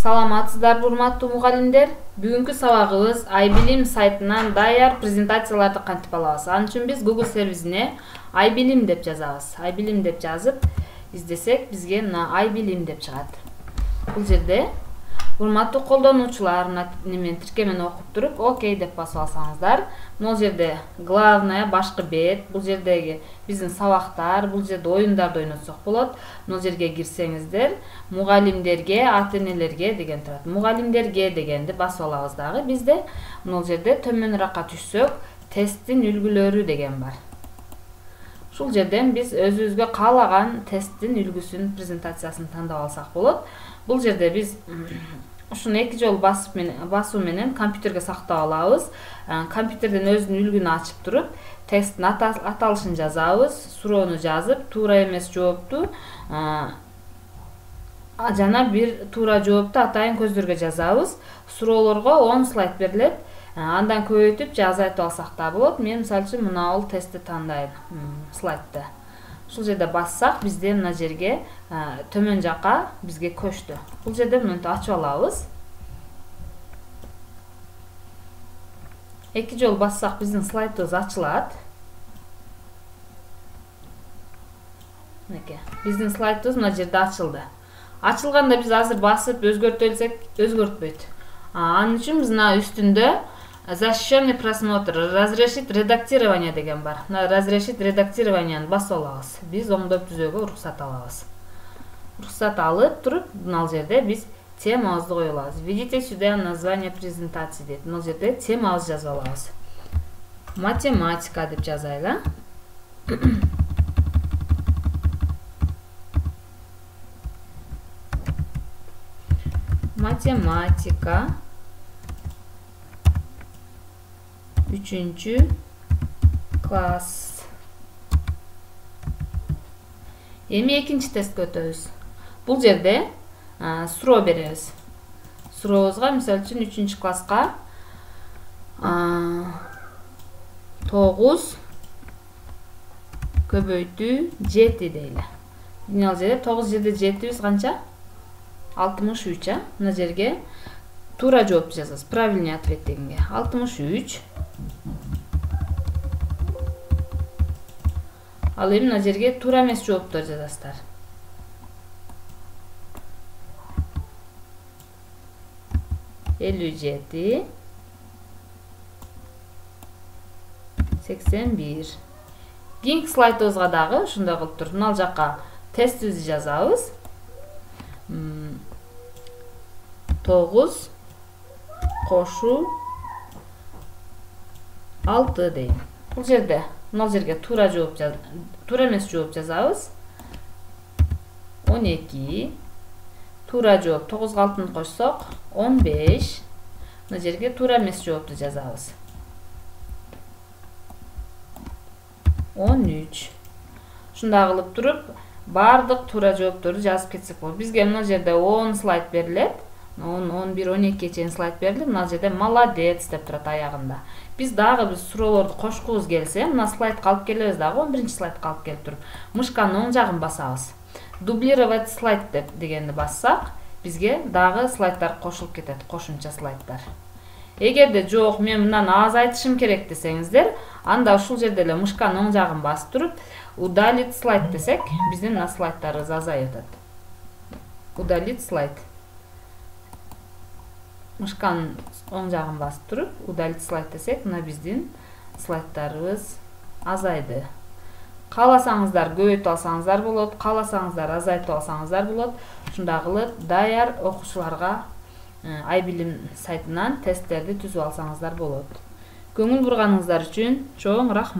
Саламатсыздарбы урматтуу мугалимдер? Бүгүнкү сабагыбыз iBilim сайтынан даяр презентацияларды кантип алабыз. Ал үчүн биз Google сервисине iBilim деп жазабыз. iBilim деп жазып издесек, бизге мына iBilim деп чыгат. Бул жерде урматтуу колдонуучулар немен тиркемени окуп туруп, окей деп басып алсаңыздар, бул жерде главная башкы бет, бул жердеги биздин сабактар, бул жерде оюндарды ойнотсок болот. Бул жерге кирсеңиздер, мугалимдерге, ата-энелерге деген турат. Мугалимдерге дегенди басып алабыз дагы. Бизде бул жерде төмөнүрөккө түшсөк, тесттин үлгүлөрү деген бар. Ушул жерден биз өзүбүзгө каалаган тесттин үлгүсүн, презентациясын тандап алсак болот. Бул жерде биз ушуну 2 жолу басуу менен компьютерге сактап алабыз. Компьютерден өзүнүн үлгүнү ачып туруп, тесттин аталышын жазабыз, суроону жазып, туура эмес жоопту жана бир туура жоопту атайын көздөргө жазабыз. Суроолорго 10 слайд берилет. Андан көбөйтүп же азайтып алсак да болот. Мен мисалы үчүн мына бул тестти тандайм, слайдты. Ушул жерде бассак, бизде мына жерге төмөн жака бизге көчтү. Бул жерде мынтип ачып алабыз. 2 жолу бассак, биздин слайдыбыз ачылат. Мынакей, биздин слайдыбыз мына жерде ачылды. Ачылганда биз азыр басып өзгөртө элсек, өзгөртпөйт. Анын үчүн биз мына үстүндө защищенный просмотр, разрешить редактирование деген бар. Мына разрешить редактированияны басып алабыз. Биз оңдоп түзөөгө уруксат алабыз. Уруксат алып туруп, мына жерде биз темабызды кое алабыз. Введите сюда название презентации дейт. Мына жерде темабызды жазып алабыз. Математика деп жазайлы. Математика 3-чү класс. Эми экинчи тестке өтөбүз. Бул жерде суроо беребиз. Сурообузга мисалы үчүн 3-чү класска 9 көбөйтүү 7 дейли. Мына жерде 9 жерде 7 канча? 63, мына жерге туура жооп жазасыз. Правильный ответ дегенге 63. Ал эми мына жерге туура эмес жооптор жазасыздар. 57 81. Кийинки слайдыбызга дагы ушундай кылып туруп, мына жака тестибизди жазабыз. 9 кошу 6 дейм. Бул жерде мына жерге туура эмес жооп жазабыз. 12. Туура жооп 9-га 6-ны кошсок 15. Мына жерге туура эмес жоопту жазабыз. 13. Ушундай кылып туруп, бардык туура жоопторду жазып кетсек болот. Бизге мына жерде 10 слайд берилет. 10, 11, 12 чейин слайд берилет. Мына жерде молодец деп турат аягында. Биз дагы суроолорду кошкубуз келсе, мына слайдка алып келебиз дагы 11-чи слайдка алып келип туруп, мышканын оң жагын басабыз. Дублировать слайд дегенди бассак, бизге дагы слайддар кошулуп кетет, кошумча слайддар. Эгерде жок, мен мындан азайтышым керек десеңиздер, анда ушул жерде эле мышканын оң жагын басып туруп, удалить слайд десек, биздин мына слайддарыбыз азайып атат. Удалить слайд. Мышканын оң жагын басып туруп, удалить слайд десек, мына биздин слайддарыбыз азайды. Кааласаңыздар көбөйтүп алсаңыздар болот, кааласаңыздар азайтып алсаңыздар болот. Ушундай кылып даяр окуучуларга iBilim сайтынан тесттерди түзүп алсаңыздар болот. Көңүл бурганыңыздар үчүн чоң рахмат.